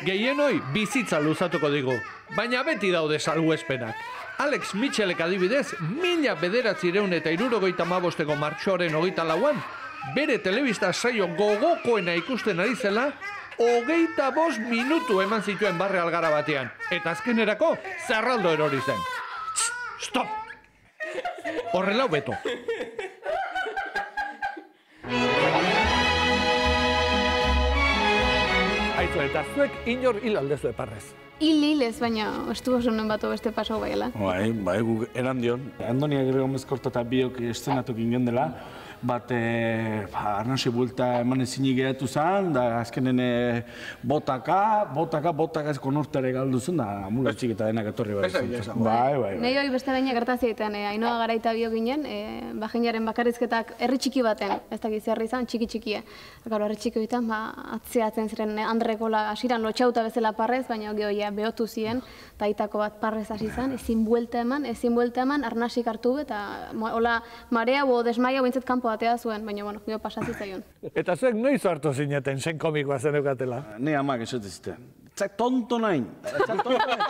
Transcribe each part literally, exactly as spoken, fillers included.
Gehienoi bizitza luzatuko digu, baina beti daude salbuespenak. Alex Mitchellek adibidez, mila bederatzireun eta hirurogeita hamabosteko martxoaren hogeita lauan, bere telebista saio gogokoena ikusten ari zela, hogeita bost minutu eman zituen barre algara batean. Eta azkenerako, zerraldo erori zen. Stop! Horrela beto. Aizu, eta zuek inor hil aldezu eparrez. Hil hil ez, baina estu oso non batu beste pasau baiela. Bai, bai, guk eran dion. Andonia Gero Mezkorta eta biok eszenatu ginen dela, bat arnasi bulta eman ezinik geratu zen, da azkenen botaka, botaka, botaka ez konortare galdu zen, da mula txik eta denak etorri bai zen. Bai, bai, Nei hori beste baina gertazietan, Ainoa Garaita bio ginen, bajinaren bakarrizketak herri txiki baten, ez dakiz herri izan, txiki txikie. Garo, herri txiki horietan, atzeatzen ziren Andrekola hasiran lotxauta bezala parrez, baina gehoia behotu ziren, eta aitako bat parrez hasi zen, ezin buelta eman, ezin buelta eman, arnasik hartu, eta hola marea o desmaia bintzat kanpo atea zuen, baina, bueno, gero pasatzi zaion. Eta zuek noiz hartu zineten zen komikoa zenukatela? Ne amak esate ziten. Zak tonto nahin. Zak tonto nahin.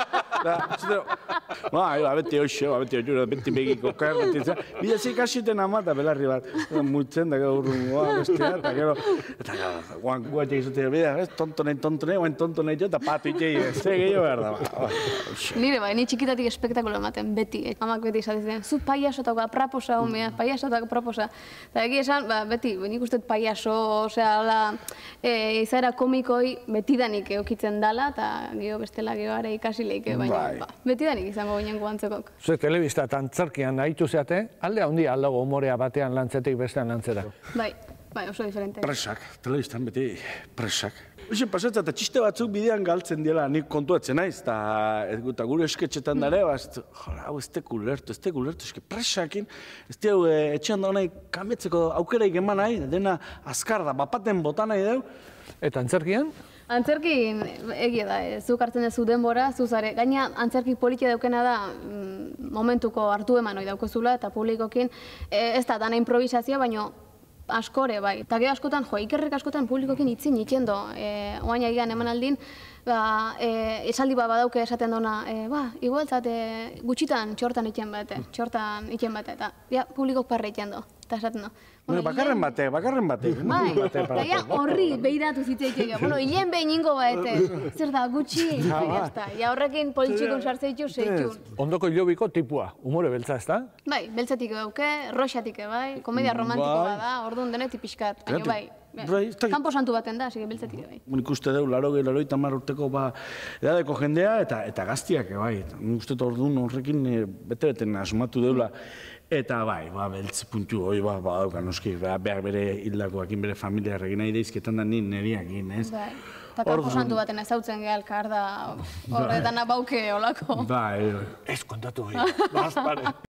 Ba, beti hoxe, beti hoxe, beti begiko kar, beti zan. Bila zik asiten ama eta belarri bat. Multzen da gero urrun, bestea, eta gero. Eta gero, guan guatek izatea, bida, tonto nahin, tonto nahin, guan tonto nahin jo, eta patu itxei, ze gehiago behar da. Nire bai, ni txikitatik espektakulo ematen, beti. Amak beti izaten, zu paiasotako apraposa, homea, paiasotako apraposa. Eta egi esan, beti, nik uste paiaso, osea, izaera komikoi betidanik eukitzen dala, eta geho bestela gehoare ikasileike, baina betidanik izango ginen guantzekok. Zuek telebista eta antzerkian nahitu zeate, alde handia aldago humorea batean lantzetik bestean lantzera. Bai, bai, oso diferente. Presak, telebistan beti presak. Hoxe pasatza eta txiste batzuk bidean galtzen diela nik kontuatzen naiz, eta gure esketxetan dara, hau ez teku lertu, ez teku lertu, eske presakin, ez teku etxean da honai kametzeko aukeraik eman nahi, dena azkar da, bapaten bota nahi deu. Eta antzerkian? Antzerkin egia da, zuk hartzen duzu denbora, zuzare. Gaina antzerki politia daukena da momentuko hartu eman hori daukozula eta publikokin ez da dana improvisazioa, baina askore bai. Eta gero askotan, jo, ikerrek askotan publikokin itzin itxendo. Oain egian eman aldin, esaldi bat badauke esaten dona, ba, igual zate gutxitan txortan itxen bate, txortan itxen bate, eta publikok parre itxendo. Eta esaten do. Bakarren batek, bakarren batek. Bai, eta horri behiratu zitzeik. Bueno, hilen behin ingo baete. Zer da, gutxi. Ja horrekin politxikun sartzeitu, zeitu. Ondoko hilobiko tipua, humore beltza, ez da? Bai, beltzatik dauke, roxatik bai, komedia romantikoa da, orduan denetik pixkat. Baina bai, kanpo santu baten da, así que beltzatik bai. Nik uste deu, laro gehi, laro eta mar urteko edadeko jendea eta gaztiak, bai. Nik uste orduan horrekin bete-beten asmatu deula. Eta bai, beltz puntu hori badauka noski, behar bere hildakoakin, bere familiarrekin nahi daizketan da nien neriakin, ez? Bai, eta kanpo santu baten ezautzen gehalkar da horretan abauke olako. Bai, ez kontatu hori, bazpare.